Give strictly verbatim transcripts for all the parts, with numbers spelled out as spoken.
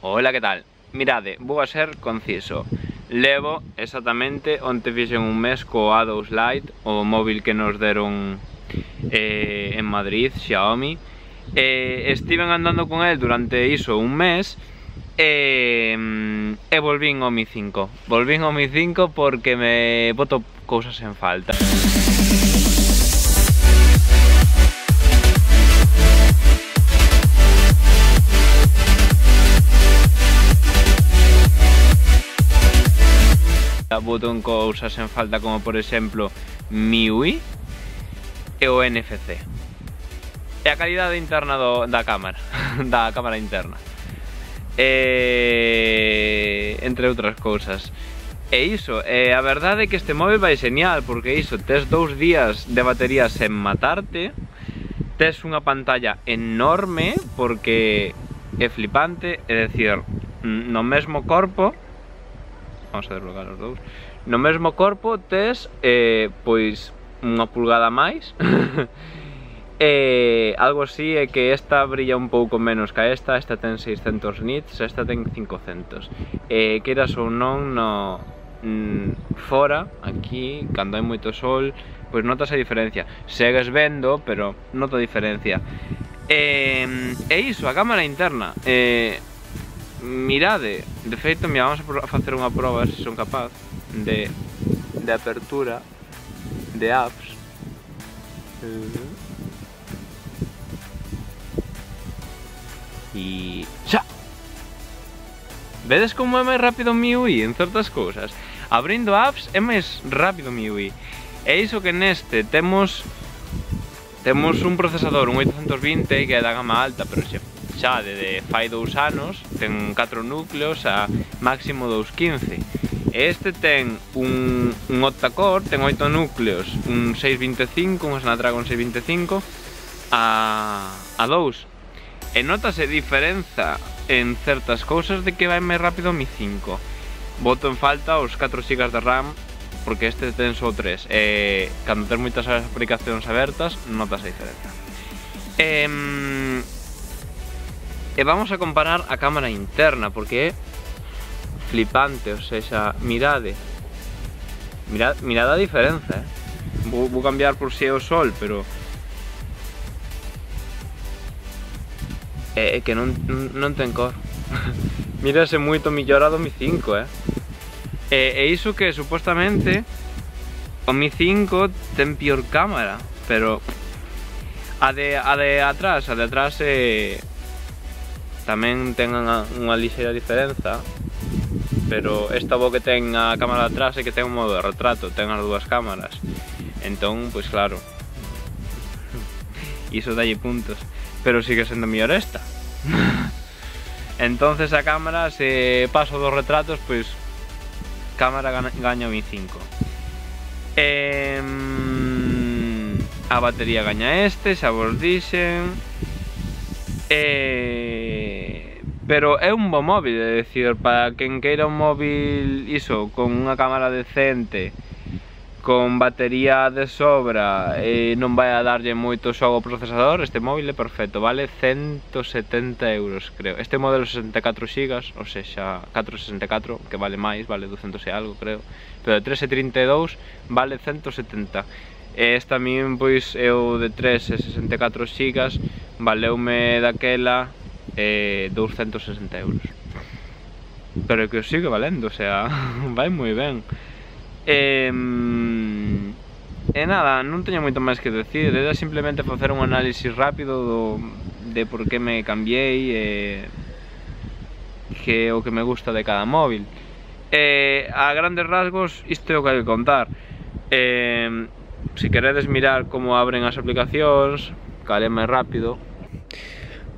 Ola, que tal? Mirade, vou a ser conciso. Levo exactamente onte fixen un mes co A dous Lite, o móvil que nos deron eh, en Madrid, Xiaomi. eh, Estiven andando con el durante iso un mes e, e volvín ao Mi cinco. Volvín ao Mi cinco porque me boto cousas en falta. Boto en cousas en falta como por exemplo M I U I e o N F C e a calidade interna do, da cámara da cámara interna e, entre outras cousas. E iso, e a verdade é que este móvil vai genial porque iso, tes dous días de batería sen matarte, tes unha pantalla enorme porque é flipante, é dicir, no mesmo corpo, vamos a desbloquear os dous. No mesmo corpo tes eh, pois unha pulgada máis. E algo así é que esta brilla un pouco menos que esta. Esta ten seiscentos nits, esta ten cincocentos. E queiras ou non, no mm, fora, aquí, cando hai moito sol, pois notas a diferencia. Segues vendo, pero nota a diferencia. E, e iso, a cámara interna. E, mirade, de feito, mira, vamos a facer unha proba se son capaz de, de apertura de apps. E xa! Vedes como é máis rápido o M I U I en certas cousas? Abrindo apps é máis rápido o M I U I. E iso que neste temos temos un procesador, un oitocentos vinte, que é da gama alta, pero xe xa de, de fai dous anos, ten catro núcleos a máximo doscientos quince. Este ten un, un octa-core, ten oito núcleos, un seiscentos vinte e cinco, un Snapdragon seiscentos vinte e cinco a, a dous. E notase diferenza en certas cousas de que vai máis rápido o Mi cinco. Boto en falta os catro gigas de RAM porque este ten só tres. E cando ten moitas aplicacións abertas, notas a diferenza. E, E vamos a comparar a cámara interna porque é flipante, ou seja, mirade Mirad, mirad a diferenza, eh? Vou, vou cambiar por si é o sol, pero é, é que non, non ten cor. Mírase moito mellorado o Mi cinco, eh? E, e iso que supostamente o Mi cinco ten pior cámara, pero a de, a de atrás, a de atrás é... tamén ten unha, unha lixeira diferenza, pero esta bo que ten a cámara de atrás é que ten un modo de retrato, ten as dúas cámaras, entón, pois claro, iso dalle puntos, pero sigue sendo mellor esta. Entonces a cámara, se paso dos retratos, pois cámara gaña o Mi cinco. E, a batería gaña este, xa vos dixen. Eh, pero é un bo móvil, é dicir, para quen queira un móvil iso, con unha cámara decente, con batería de sobra e non vai a darlle moito xogo ao procesador, este móvil é perfecto, vale ciento setenta euros, creo. Este modelo sesenta e catro gigas, ou seja, cuatrocentos sesenta e catro, que vale máis, vale ducentos e algo, creo, pero de trescentos trinta e dous vale ciento setenta. E esta min, pois, é o de tres e sesenta e catro gigas, valeume daquela eh, doscientos sesenta euros. Pero que os sigue valendo, o sea, vai moi ben. E, e nada, non teño moito máis que decir, era simplemente facer un análisis rápido do, de por que me cambiei e que o que me gusta de cada móvil. E a grandes rasgos, isto é o que hai que contar. E, se queredes mirar como abren as aplicacións, cal é máis rápido,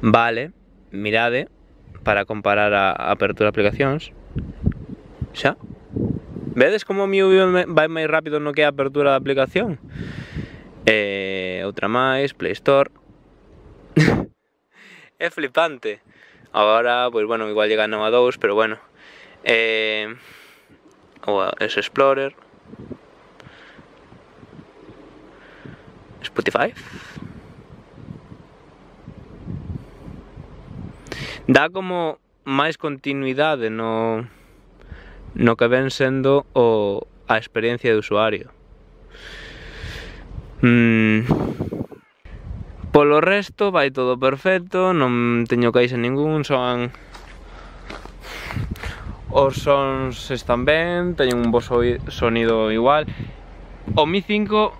vale, mirade para comparar a apertura de aplicacións. Xa. Vedes como o Mi U I vai máis rápido no que é a apertura da aplicación? E outra máis, Play Store. É flipante. Agora, pois bueno, igual llega a dous, pero bueno. Eh, o es Explorer. Spotify. Da como máis continuidade no, no que ven sendo o, a experiencia de usuario. Mm. Polo resto vai todo perfecto, non teño queixa ningún, son... Os sons están ben, teñen un bo sonido igual. O Mi cinco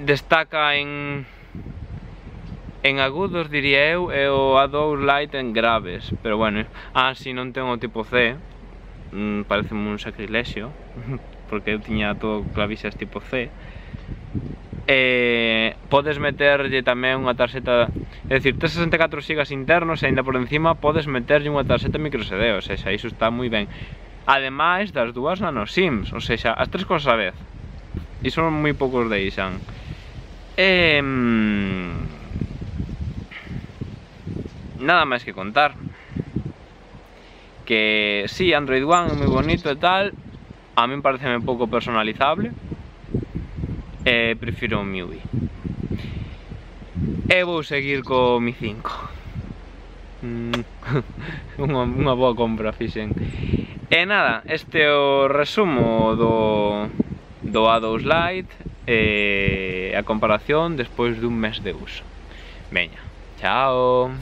destaca en en agudos, diría eu, e o A dous Lite en graves, pero bueno, ah, si non ten o tipo C, mm, pareceme un sacrilexio, porque eu tiña todo clavixas tipo C. Eh, podes meterlle tamén unha tarxeta, é dicir, tes sesenta e catro gigas internos e ainda por encima podes meterlle unha tarxeta micro S D, ou seja, iso está moi ben. Ademais das dúas nano SIMs, ou seja, as tres cosas a vez. Iso moi poucos deixan. E... nada máis que contar. Que si, sí, Android One é moi bonito e tal, a min pareceme pouco personalizable. E prefiro o M I U I. E vou seguir co Mi cinco. Mm, unha, unha boa compra fixen. E nada, este é o resumo do, do A dous Lite e a comparación despois dun mes de uso. Veña, chao.